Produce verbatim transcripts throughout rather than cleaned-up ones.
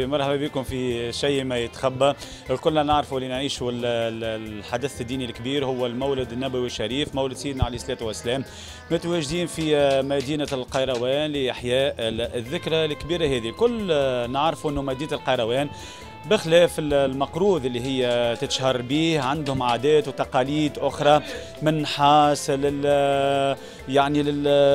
مرحبا بكم في شيء ما يتخبى. الكلنا نعرفوا اللي نعيشوا الحدث الديني الكبير هو المولد النبوي الشريف، مولد سيدنا عليه الصلاة والسلام. متواجدين في مدينة القيروان لإحياء الذكرى الكبيرة هذه. كل نعرفوا أنه مدينة القيروان بخلاف المقروض اللي هي تتشهر به عندهم عادات وتقاليد أخرى من نحاس لل يعني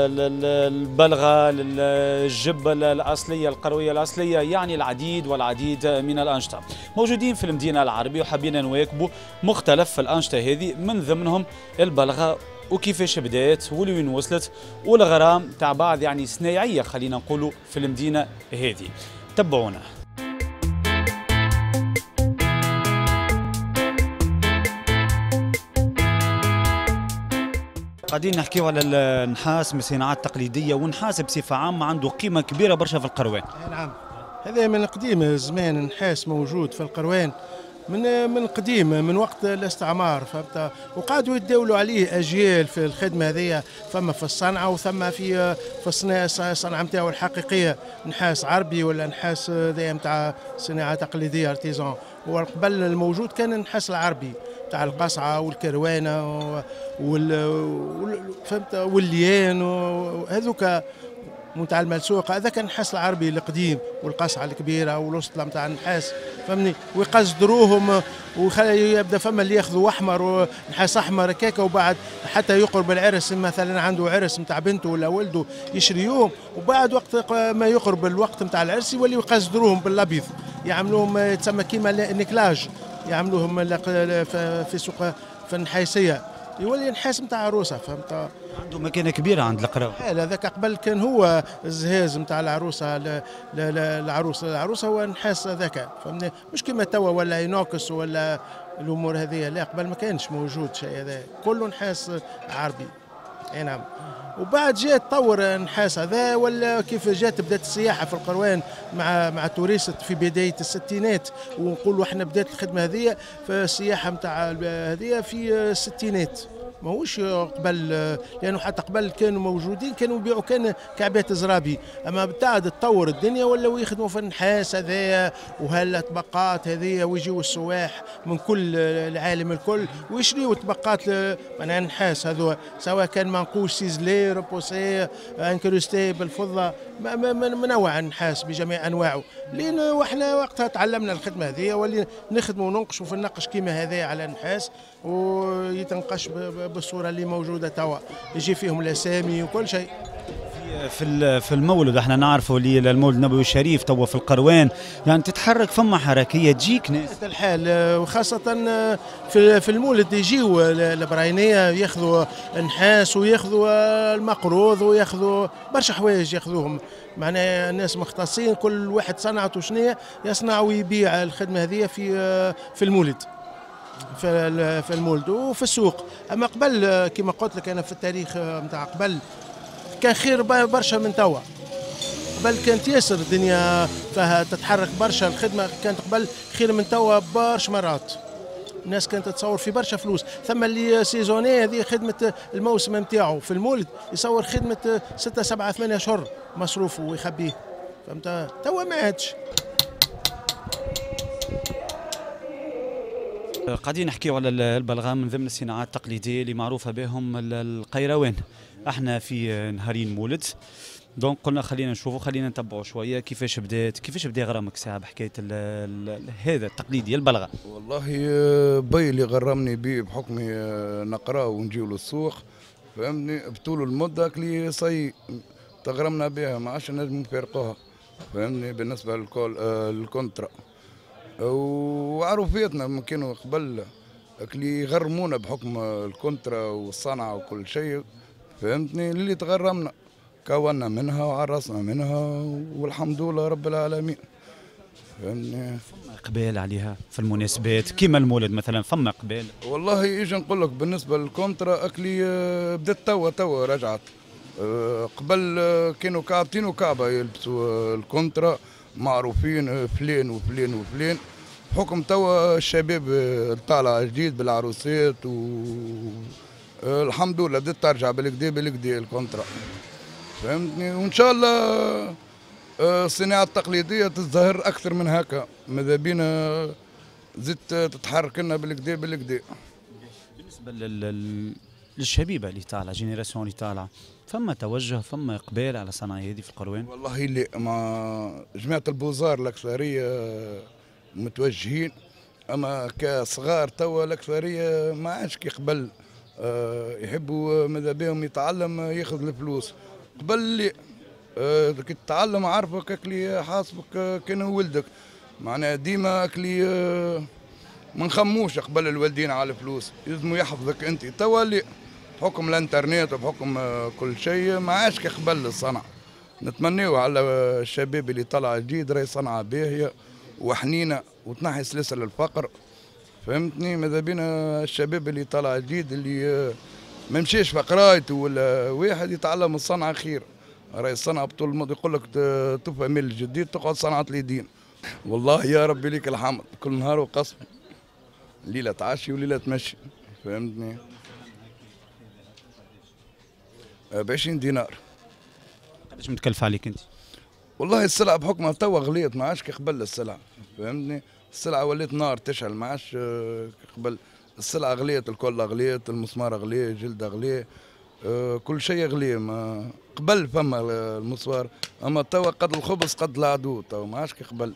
للبلغة للجبة الأصلية القروية الأصلية، يعني العديد والعديد من الأنشطة موجودين في المدينة العربية، وحابين نواكبوا مختلف الأنشطة هذه من ضمنهم البلغة وكيفاش بدات ولوين وصلت والغرام تاع بعض يعني صنايعية خلينا نقولوا في المدينة هذه. تبعونا. قاعدين نحكيو على النحاس من الصناعات التقليدية، والنحاس بصفة عامة عنده قيمة كبيرة برشا في القروان. نعم، هذا من قديم زمان النحاس موجود في القروان من من قديم، من وقت الاستعمار، فهمت؟ وقعدوا يتداولوا عليه اجيال في الخدمة هذه، فما في الصنعة وثم في في الصنعة نتاعو الحقيقية، نحاس عربي ولا نحاس هذايا نتاع صناعة تقليدية artisan. وقبل الموجود كان النحاس العربي تاع القصعه والكروانه وال فهمت والليان وهذوك نتاع الملسوقه، هذا كان النحاس العربي القديم والقصعه الكبيرة والوسطله نتاع النحاس، فهمني؟ ويقصدروهم ويخلي يبدا فما اللي ياخذوا احمر ونحاس احمر هكاكا، وبعد حتى يقرب العرس مثلا عنده عرس نتاع بنته ولا ولده يشريوهم، وبعد وقت ما يقرب الوقت نتاع العرس يوليو يقصدروهم بالابيض، يعملوهم تسمى كيما nickelage، يعملوهم في سوق في النحاسيه، يولي نحاس نتاع عروسه، فهمت؟ عنده مكانه كبيرة عند القراوه. هذاك قبل كان هو الزهاز نتاع العروسة، العروسة العروسة هو النحاس هذاك، فهمتني؟ مش كيما توا ولا inox ولا الامور هذه، لا قبل ما كانش موجود شيء هذا، كله نحاس عربي. اي نعم. وبعد جاء تطور النحاس هذا، ولا كيف جات بدات السياحة في القروان مع مع ال touristes في بداية الستينات، ونقولوا احنا بدات الخدمة هذه في السياحة نتاع هذه في الستينات، ماهوش قبل، لانه حتى قبل كانوا موجودين كانوا يبيعوا كان كعبات زرابي، اما بعد تطور الدنيا ولاو يخدموا في النحاس هذايا وهالطبقات هذيا، ويجيو السواح من كل العالم الكل ويشريوا طبقات معناها النحاس هذو، سواء كان منقوش ciselé repoussé incrusté بالفضه، منوع النحاس بجميع انواعه، لان وحنا وقتها تعلمنا الخدمة هذه ولينا نخدموا وننقشوا في النقش كيما هذايا على النحاس، ويتنقش بالصورة اللي موجودة توا، يجي فيهم الاسامي وكل شيء. في في المولد احنا نعرفوا اللي المولد النبوي الشريف توا في القروان يعني تتحرك فما حركية تجيك ناس الحال، وخاصة في في المولد يجيو البراينيه ياخذوا نحاس وياخذوا المقروض وياخذوا برشا حوايج ياخذوهم، معناها الناس مختصين كل واحد صنعته شنية يصنع ويبيع الخدمة هذه في في المولد، في المولد وفي السوق. اما قبل كما قلت لك انا في التاريخ نتاع قبل كان خير برشا من توا، قبل كانت ياسر الدنيا فيها تتحرك برشا، الخدمة كانت قبل خير من توا برشا مرات، الناس كانت تصور في برشا فلوس، ثم اللي saisonnier هذه خدمة الموسم نتاعو في المولد يصور خدمة ستة سبعة ثمانية اشهر مصروفه ويخبيه، فهمت؟ توا ما عادش. قاعدين نحكيو على البلغام من ضمن الصناعات التقليدية اللي معروفة بهم القيروان. احنا في نهارين مولد، donc قلنا خلينا نشوفوا خلينا نتبعوا شوية كيفاش بدات، كيفاش بدا غرامك ساعة بحكاية ال ال هذا التقليدي البلغه. والله بي اللي غرمني بيه بحكمي نقرا ونجيو للسوق، فهمتني؟ بطول المدة كلي صي تغرمنا بها ما عادش نجموا نفارقوها، فهمتني؟ بالنسبة للكول لل contrat وعروفيتنا كانوا قبل اللي يغرمونا بحكم ال contrat والصنعه وكل شيء، فهمتني؟ اللي تغرمنا كونا منها وعرسنا منها والحمد لله رب العالمين، فهمتني؟ فما اقبال عليها في المناسبات كيما المولد مثلا، فما اقبال؟ والله اجي نقول لك بالنسبة لل contrat اكلي بدات توا توا رجعت، قبل كانوا كعبتين وكعبه يلبسوا ال contrat معروفين فلان وفلان وفلان، بحكم توا الشباب طالع جديد بالعروسات و الحمد لله بدات ترجع بالكدا بالكدا ال contrat، فهمتني؟ وان شاء الله الصناعة التقليدية تزدهر اكثر من هكا، ماذا بينا زدت تتحرك لنا بالكدا بالكدا. بالنسبة لل للشبيبه اللي طالعه، génération اللي طالعه، فما توجه، فما اقبال على الصناعة هذه في القروان؟ والله اللي مع جماعة ال beaux-arts الاكثرية متوجهين، اما كصغار توا الاكثرية ما عادش كي قبل، يحبوا ماذا بهم يتعلم ياخذ الفلوس. قبل اللي كي تتعلم عارفك اكلي حاسبك كان ولدك، معناها ديما اكلي ما نخموش قبل الوالدين على الفلوس، يلزموا يحفظك انت. توا اللي بحكم الانترنت وبحكم كل شيء ما عادش كي قبل الصنعة. نتمنيو على الشباب اللي طلع جديد راهي صنعه باهيه وحنينه وتنحي سلاسل الفقر، فهمتني؟ ماذا بينا الشباب اللي طلع جديد اللي ما مشيش في قرايته ولا واحد يتعلم الصنعة خير، راهي الصنعة بطول الماضي يقول لك تفهم الجديد تقعد صنعه اليدين. والله يا ربي ليك الحمد، كل نهار وقسم، ليلة تعشي وليلة تمشي، فهمتني؟ ب عشرين دينار. قداش متكلفه عليك انت؟ والله السلعة بحكمها توا غليت، ما عادش كي قبل السلعة، فهمتني؟ السلعة ولات نار تشعل، ما عادش قبل. السلعة غليت، الكل غليت، المسمار غلي، الجلد غلي، كل شيء غلي. ما قبل فما المسمار، اما توا قد الخبز قد العدو، توا ما عادش كي قبل.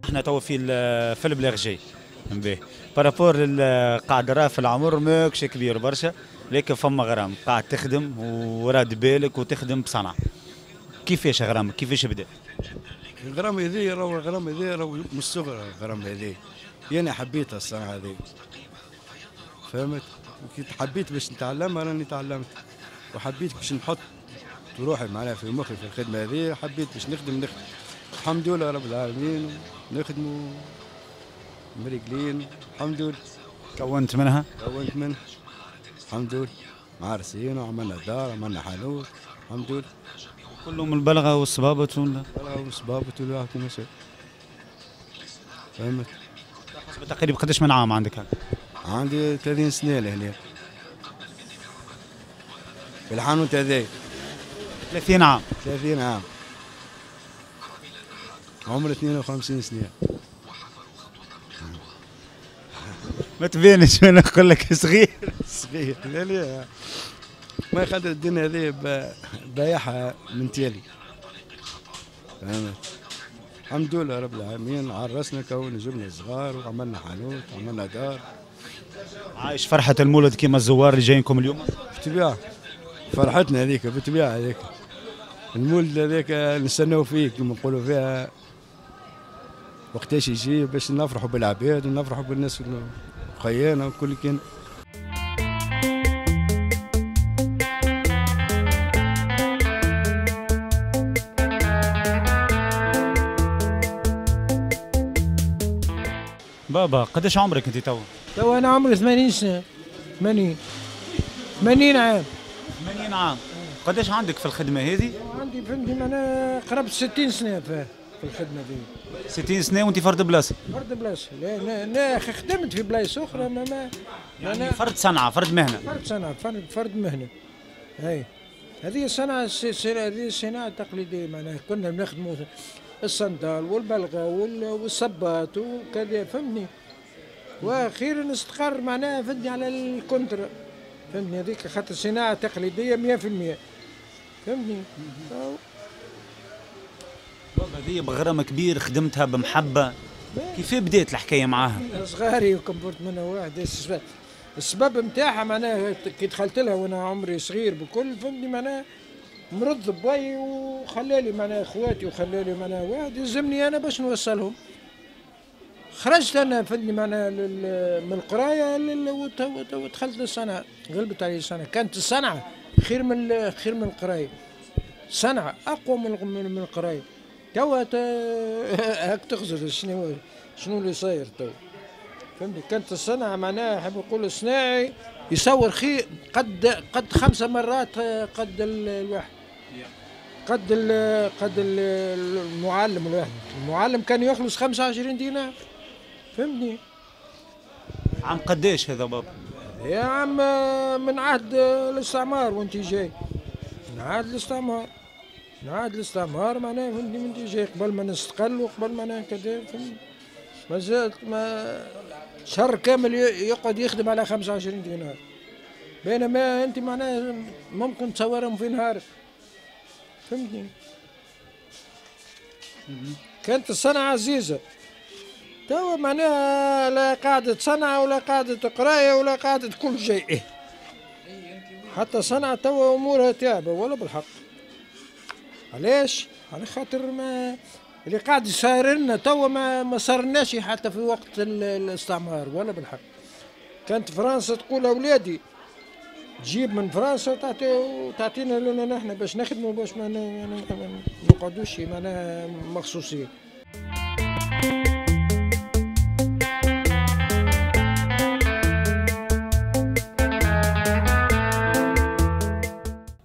احنا توا في في البلارجي باهي par rapport قاعد راه في العمر ماكش كبير برشا، لكن فما غرام قاعد تخدم وراد بالك وتخدم بصنعه. كيفاش غرامك؟ كيفاش بدا؟ الغرام هذه راهو الغرام هذه راهو من الصغر. الغرام هذه انا حبيتها الصنعة هذه، فهمت؟ وكي حبيت باش نتعلمها راني تعلمت، وحبيت باش نحط روحي معناها في مخي في الخدمة هذه، حبيت باش نخدم نخدم الحمد لله رب العالمين، نخدموا مريقلين الحمد لله. كونت منها؟ كونت منها الحمد لله، معرسين وعملنا دار، عملنا حانوت الحمد لله. كلهم البلغه والصبابط ولا؟ البلغه والصبابط والواحد كيما شاء، فهمت؟ حسب تقريبا قداش من عام عندك هكا؟ عندي ثلاثين سنة لهنا في الحانوت هذايا. ثلاثين عام؟ ثلاثين عام، عمري اثنين وخمسين سنة. ما تبينش انا نقول لك صغير. صغير لا لا، ما خاطر الدنيا هذه بايعها من تالي، فهمت؟ الحمد لله رب العالمين، عرسنا كون جبنا صغار وعملنا حانوت وعملنا دار. عايش فرحة المولد كيما الزوار اللي جايينكم اليوم؟ بالطبيعة فرحتنا هذيك، بالطبيعة هذيك المولد هذاك نستناو فيه كما نقولوا فيها وقتاش يجي باش نفرحوا بالعباد ونفرحوا بالناس وخيانا وكل كان. بابا قداش عمرك انت توا؟ توا انا عمري ثمانين سنة. ثمانين ثمانين عام. ثمانين عام. قداش عندك في الخدمة هذه؟ عندي فهمتني معناها قرابة ستين سنة في الخدمة هذه. ستين سنة وانت فرد بلاصة؟ فرد بلاصة، لا لا, لا خدمت في بلايص أخرى ما ما يعني فرد صنعة، فرد مهنة. فرد صنعة، فرد فرد مهنة. هاي هذه الصنعة هذه الصناعة التقليدية، معناها كنا نخدموا الصندال والبلغة والصباط وكذا، فهمتني؟ واخيرا استقر معناها فهمتني على الكونترا، فهمتني؟ هذيك خاطر صناعة تقليدية مية في المية، فهمتني؟ بابا هذه بغرام كبير خدمتها بمحبة، كيف بديت الحكاية معاها؟ صغاري وكبرت منها واحد، السبب نتاعها معناها كي دخلت لها وانا عمري صغير بكل، فهمتني؟ معناها مرض بوي وخلالي معناها اخواتي وخلالي معناها واحد يلزمني انا باش نوصلهم. خرجت انا فهمتني معناها من القراية ودخلت للصنعه، غلبت علي الصنعة، كانت الصنعة خير من خير من القراية، صنعه اقوى من من القراية. توا هاك تخزر شنو شنو اللي صاير توا، فهمتني؟ كانت الصنعة معناها حاب نقول الصناعي يصور خير قد قد خمسة مرات قد الواحد، قد ال قد المعلم الواحد، المعلم كان يخلص خمسة وعشرين دينار، فهمتني؟ عام قداش هذا بابا؟ يا عم من عهد الاستعمار وانت جاي، من عهد الاستعمار، من عهد الاستعمار معناها فهمتني، من جاي قبل ما نستقل وقبل ما كذا، مازالت ما شهر كامل يقعد يخدم على خمسة وعشرين دينار، بينما انت معناها ممكن تصورهم في نهار، فهمتني. كانت الصنعة عزيزة، توا معناها لا قاعدة صنعة ولا قاعدة قراية ولا قاعدة كل شيء، حتى صنعة توا أمورها تعبة ولا بالحق. علاش؟ على خاطر ما اللي قاعد يصير لنا توا ما ما صارناش حتى في وقت الاستعمار ولا بالحق. كانت فرنسا تقول أولادي تجيب من فرنسا وتعطي وتعطينا لنا نحن باش نخدموا، باش ما نقعدوش معناها مخصوصين.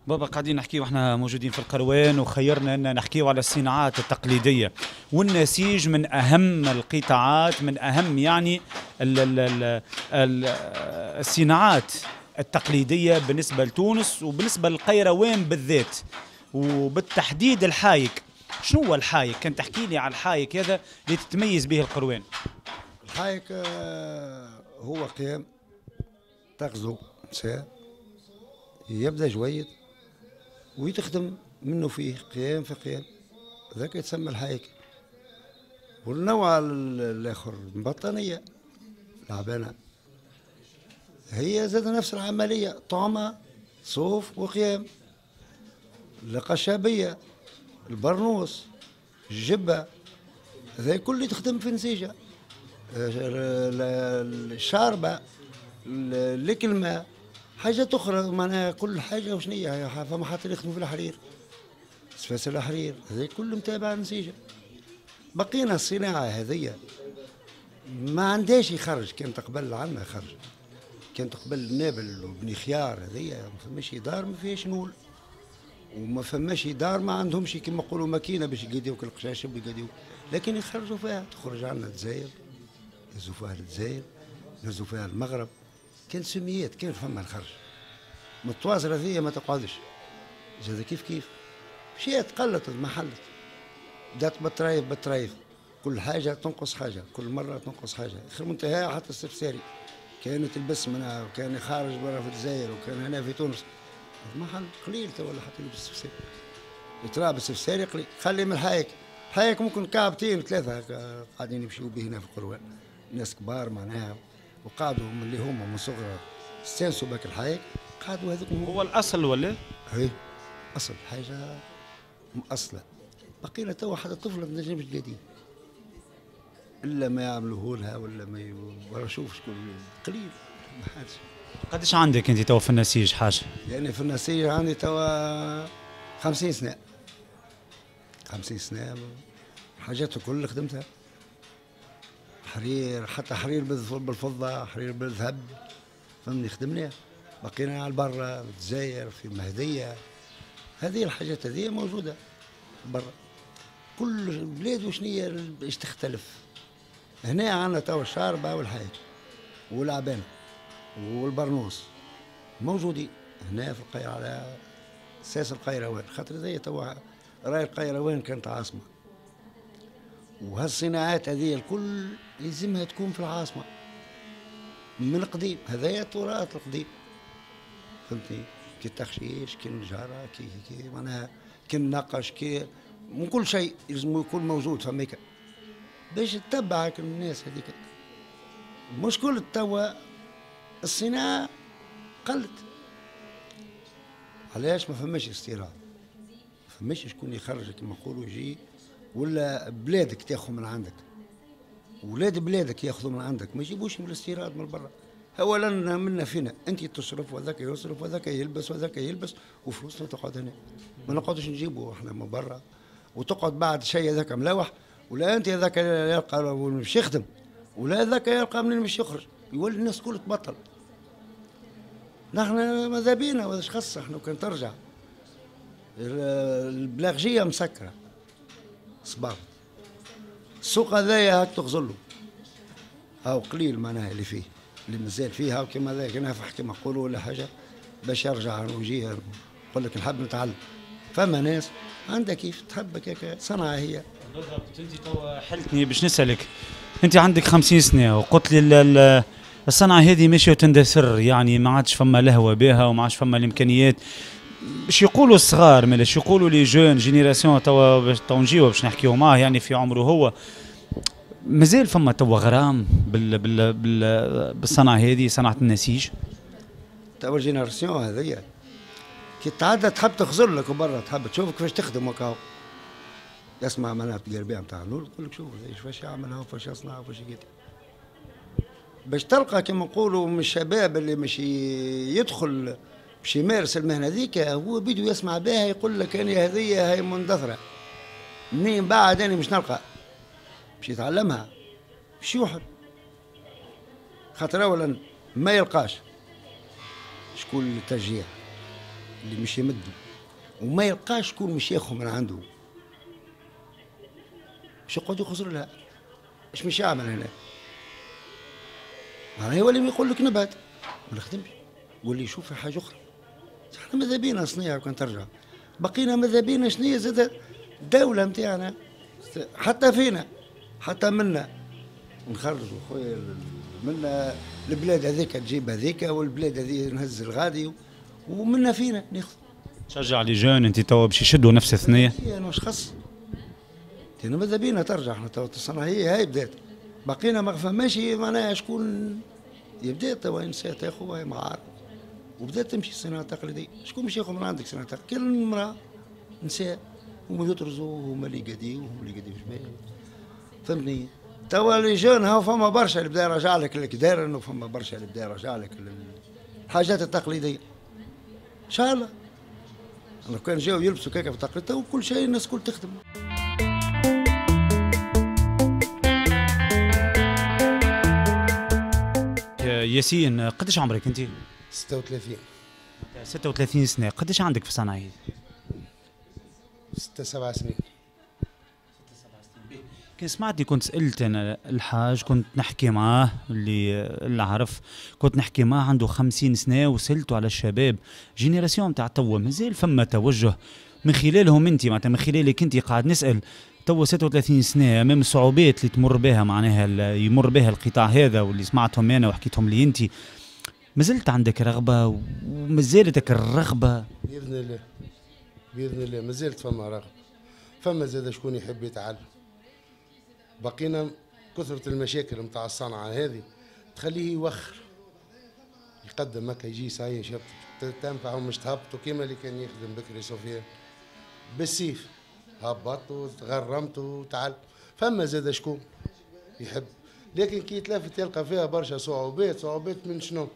بابا قاعدين نحكيو احنا موجودين في القروان، وخيرنا ان نحكيو على الصناعات التقليدية والنسيج من اهم القطاعات، من اهم يعني ال ال ال ال الصناعات التقليدية بالنسبة لتونس وبالنسبة للقيروان بالذات، وبالتحديد الحايك. شنو هو الحايك؟ كان تحكي لي على الحايك هذا اللي تتميز به القروان. الحايك هو قيام تغزو نساء يبدا جويد ويتخدم منه فيه قيام في قيام، ذاك يتسمى الحايك. والنوع الاخر البطانيه العبانه، هي زاد نفس العملية، طعمه صوف وقيام. القشابيه، البرنوس، الجبة، هذا كل تخدم في نسيجه. الشاربه، الكلمة، حاجات اخرى معناها كل حاجة وشنية. فما حتى اللي يخدموا في الحرير، سفاس الحرير، هذا كل متابع نسيجه. بقينا الصناعة هذيا ما عندهاش يخرج. كانت قبل عندنا خرج، كانت قبل نابل وبني خيار هذيا ما فماش دار ما فيهاش نول، وما فماش دار ما عندهمش كيما نقولوا ماكينة باش يقديوك القشاشب ويقديوك، لكن يخرجوا فيها. تخرج عندنا الجزائر، يهزوا فيها الجزائر، يهزوا فيها المغرب. كان سميات، كان فما الخرج. من التواصل هذيا ما تقعدش، زاد كيف كيف مشيت قلت المحلت، بدات بالطرايف بالطرايف، كل حاجة تنقص حاجة، كل مرة تنقص حاجة، اخر منتهى حتى السفساري كانت تلبس منها، وكان خارج برا في الجزائر وكان هنا في تونس. محل قليل تو ولا حتى يلبس السفساري، يتراب السفساري قليل. خلي من الحايك، الحايك ممكن كعبتين ثلاثة قاعدين يمشيو به هنا في القروان، ناس كبار معناها وقعدوا من اللي هما من صغر استانسوا باك الحايك، قعدوا هذوك. هو الاصل ولا؟ اي اصل حاجة مأصله. بقينا توا حتى طفله ما تنجمش تقاديه الا ما يعملوه لها ولا ما ي... شوف شكون قليل ما حدش. قداش عندك انت توا في النسيج حاجة؟ يعني في النسيج عندي توا خمسين سنة، خمسين سنة حاجات الكل خدمتها، حرير، حتى حرير بالفضه، حرير بالذهب، فهمني خدمناه. بقينا على برا في الجزائر، في المهدية، هذه الحاجات هذه موجودة برا. كل بلاد وشنية باش تختلف. هنا عندنا توا الشاربه والحاج والعبانه والبرنوس موجودين هنا في القاهرة على اساس القيروان، خاطر هذه توا راي القيروان كانت عاصمة، وهالصناعات هذه الكل يلزمها تكون في العاصمة من القديم، هذايا التراث القديم، فهمتني؟ كي التخشيش، كي النجاره، كي كي معناها كي النقش، كي من كل شيء لازم يكون موجود فميكا باش تتبعك الناس هذيك. المشكل توا الصناعة قلت، علاش؟ ما فماش استيراد، ما فماش شكون يخرج كما نقولوا يجي، ولا بلادك تاخذ من عندك، ولاد بلادك ياخذوا من عندك، ما يجيبوش من الاستيراد من برا. اولا منا فينا، انت تصرف وذاك يصرف وذاك يلبس وذاك يلبس، وفلوسنا تقعد هنا، ما نقعدوش نجيبوا احنا من برا، وتقعد بعد شيء هذاك ملوح، ولا انت هذاك يلقى مش يخدم، ولا هذاك يلقى منين مش يخرج، يولي الناس كل تبطل. نحن ماذا بينا واش خص احنا كان ترجع البلاغجيه مسكره صباغ السوق هذايا هاك تغزلو، هاو قليل معناها اللي فيه. اللي مازال فيها وكما ذاك نافح كما نقولوا ولا حاجة باش يرجع ويجي يقول لك نحب نتعلم. فما ناس عندها كيف تحب هكاك صنعه هي. بالضبط. انت توا حلتني باش نسالك، انت عندك خمسين سنة وقلت لي الصنعة هذه ماشية وتندثر، يعني ما عادش فما لهوه بها وما عادش فما الامكانيات. باش يقولوا الصغار مالاش يقولوا les jeunes générations توا باش تو نجيو باش نحكيو معاه يعني في عمره هو مازال فما توا غرام بال بال بال بالصنعه هذه، صنعه النسيج. توا génération هذيا كي تعدى تحب تخزر لك وبرا تحب تشوف كيفاش تخدم وكاو. يسمع معناها التقربيع نتاع النور يقول لك شوف كيفاش يعملها وكيفاش يصنع وكيفاش يقدر. باش تلقى كما نقولوا من الشباب اللي مش يدخل باش يمارس المهنة هذيك هو بيدو يسمع بها يقول لك انا هذيا هي مندثره. منين بعد انا مش نلقى باش يتعلمها باش يوحد. خاطر اولا ما يلقاش شكون التشجيع اللي مش يمده، وما يلقاش شكون مش ياخذ من عنده باش يقعد يخسر لها. اش مش يعمل هنا؟ معناها يولي يقول لك نبعد ما نخدمش، واللي يشوف في حاجة اخرى. احنا ماذا بينا صنيعه وكان ترجع، بقينا ماذا بينا شنيا زاد الدولة نتاعنا حتى فينا حتى منا نخرجوا خويا منا البلاد هذيك تجيب هذيك والبلاد هذه نهز الغادي ومنا فينا ناخذ. تشجع les jeunes انت توا باش يشدوا نفس الثنية؟ انا واش خص؟ انا ماذا بينا ترجع احنا توا الصنعة هي هاي بدات، بقينا ما فماش معناها شكون يبدا توا نساء تاخذ وهي معارض وبدات تمشي الصناعة التقليدية. شكون باش ياخذ من عندك صناعة تقليدية؟ كل امراة نساء هما يطرزوا هما اللي قاديو هما اللي قاديو جبال. فهمتني؟ توا les jeunes هاو فما برشا اللي بدا يرجع لك الكدارن وفما برشا اللي بدا يرجع لك الحاجات التقليدية. ان شاء الله لو كان جاو يلبسوا كاكا في التقليد تو كل شيء الناس كل تخدم. ياسين قداش عمرك انت؟ ستة وثلاثين. ستة وثلاثين سنة، قداش عندك في الصنعة هذه؟ ستة سبع سنين. ستة سبع سنين. كان سمعتني كنت سألت أنا الحاج، كنت نحكي معاه اللي اللي عرف، كنت نحكي معاه عنده خمسين سنة وسألته على الشباب génération تاع توا مازال فما توجه من خلالهم انت، معناتها من خلالك انت قاعد نسأل توا ستة وثلاثين سنة أمام الصعوبات اللي تمر بها معناها يمر بها القطاع هذا واللي سمعتهم أنا وحكيتهم لي أنت، مازلت عندك رغبة ومازالتك الرغبة؟ بإذن الله بإذن الله مازالت فما رغبة، فما زاد شكون يحب يتعلم. بقينا كثرة المشاكل نتاع الصنعة هذه تخليه يوخر يقدم هكا يجي ساي شاب تنفع ومش تهبطوا كيما اللي كان يخدم بكري سفيان بالسيف هبطت وتغرمت وتعلم. فما زاد شكون يحب، لكن كي يتلافت يلقى فيها برشا صعوبات. صعوبات من شنو؟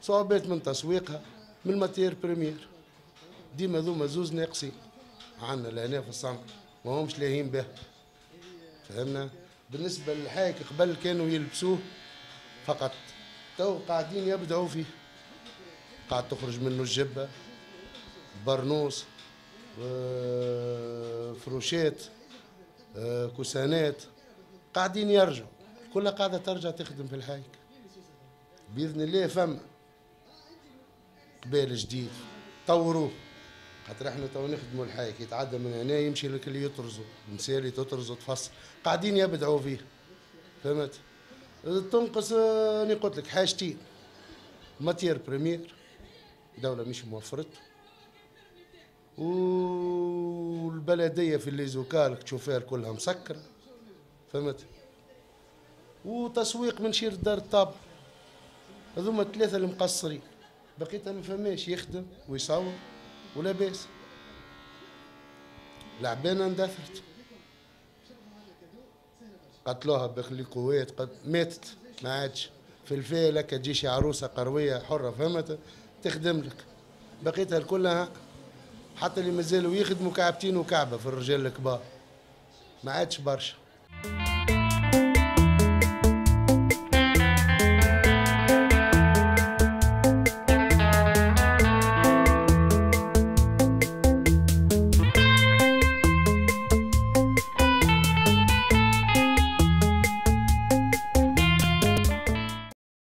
صعوبات من تسويقها، من ال matière première. ديما ذوما زوز ناقصين عندنا لهنا في الصنعة ما همش لاهين بها. فهمنا؟ بالنسبة للحايك قبل كانوا يلبسوه فقط، تو قاعدين يبدعوا فيه، قاعد تخرج منه الجبة، برنوس، فروشات، كوسانات، قاعدين يرجعوا، كلها قاعدة ترجع تخدم في الحايك بإذن الله. فما قبال جديد طوروه، خاطر احنا تو نخدموا الحايك يتعدى من هنا يمشي لك اللي يطرزوا، النساء اللي تطرزوا تفصل، قاعدين يبدعوا فيه. فهمت؟ تنقص انا قلت لك حاجتين، matière première دولة مش موفرته، والبلدية في les écoles تشوفها كلها مسكرة. فهمت؟ وتسويق من شير دار الطابع. هذوما الثلاثة اللي مقصرين، بقيتها ما فماش يخدم ويصور ولا باس. العبانة اندثرت، قتلوها بخليكوات، قد ماتت ما عادش في الفيلة. تجي شي عروسة قروية حرة فهمت تخدم لك، بقيتها كلها حتى اللي مازالوا يخدموا كعبتين وكعبة في الرجال الكبار ما عادش برشا.